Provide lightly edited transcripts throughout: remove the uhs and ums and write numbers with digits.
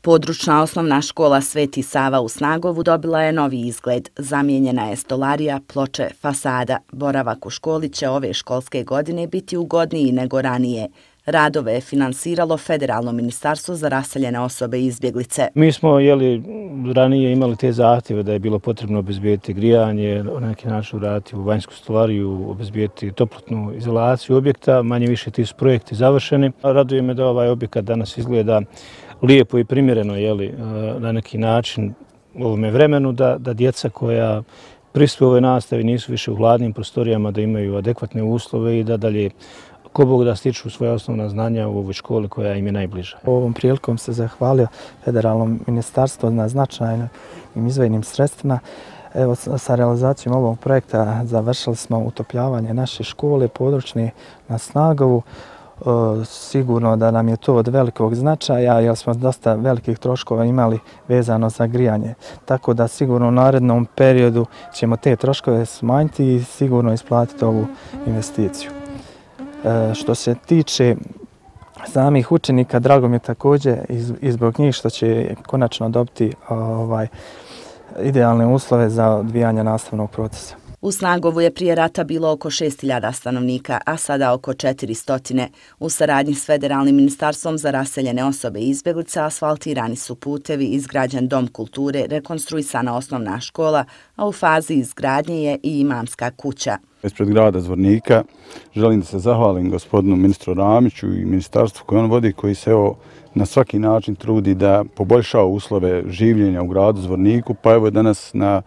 Područna osnovna škola Sveti Sava u Snagovu dobila je novi izgled. Zamijenjena je stolarija, ploče, fasada. Boravak u školi će ove školske godine biti ugodniji nego ranije. Radove je finansiralo Federalno ministarstvo za raseljene osobe i izbjeglice. Mi smo ranije imali te zahtjeve da je bilo potrebno obezbijeti grijanje, na neki način uraditi u vanjsku stolariju, obezbijeti toplotnu izolaciju objekta. Manje više ti su projekti završeni. Raduje me da ovaj objekat danas izgleda lijepo i primjereno na neki način u ovome vremenu, da djeca koja prisustuju ovoj nastavi nisu više u hladnim prostorijama, da imaju adekvatne uslove i da dalje ko Bog da stiču svoja osnovna znanja u ovoj školi koja im je najbliža. Ovom prilikom se zahvalio Federalnom ministarstvu na značajnim izdvojenim sredstvima. Evo, sa realizacijom ovog projekta završili smo utopljavanje naše škole područne na Snagovu. Sigurno da nam je to od velikog značaja jer smo dosta velikih troškova imali vezano za grijanje. Tako da sigurno u narednom periodu ćemo te troškove smanjiti i sigurno isplatiti ovu investiciju. Što se tiče samih učenika, drago mi je također i zbog njih što će konačno dobiti idealne uslove za odvijanje nastavnog procesa. U Snagovu je prije rata bilo oko 6.000 stanovnika, a sada oko 400. U saradnji s Federalnim ministarstvom za raseljene osobe i izbjeglice asfaltirani su putevi, izgrađen dom kulture, rekonstruisana osnovna škola, a u fazi izgradnje je i imamska kuća. Ispred grada Zvornika želim da se zahvalim gospodinu ministru Ramiću i ministarstvu koje on vodi, koji se na svaki način trudi da poboljša uslove življenja u gradu Zvorniku, pa evo danas na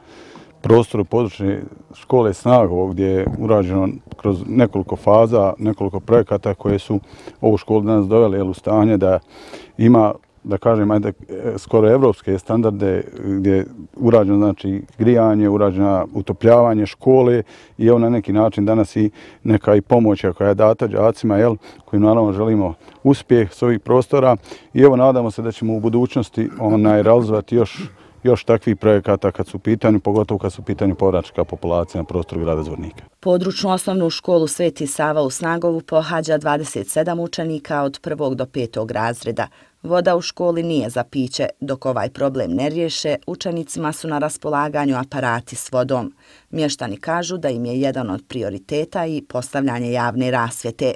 prostoru područne škole Snagovo gdje je urađeno kroz nekoliko faza, nekoliko projekata koje su ovu školu danas doveli u stanje da ima, da kažem, skoro evropske standarde gdje je urađeno znači grijanje, urađeno utopljavanje škole i evo na neki način danas i neka i pomoć koja je data đacima, koji naravno želimo uspjeh s ovih prostora i evo nadamo se da ćemo u budućnosti realizovati još takvih projekata kad su u pitanju, pogotovo kad su u pitanju povraćaka populacije na prostoru grada Zvornika. Područnu osnovnu školu Sveti Sava u Snagovu pohađa 27 učenika od 1. do 5. razreda. Voda u školi nije za piće. Dok ovaj problem ne riješe, učenicima su na raspolaganju aparati s vodom. Mještani kažu da im je jedan od prioriteta i postavljanje javne rasvjete.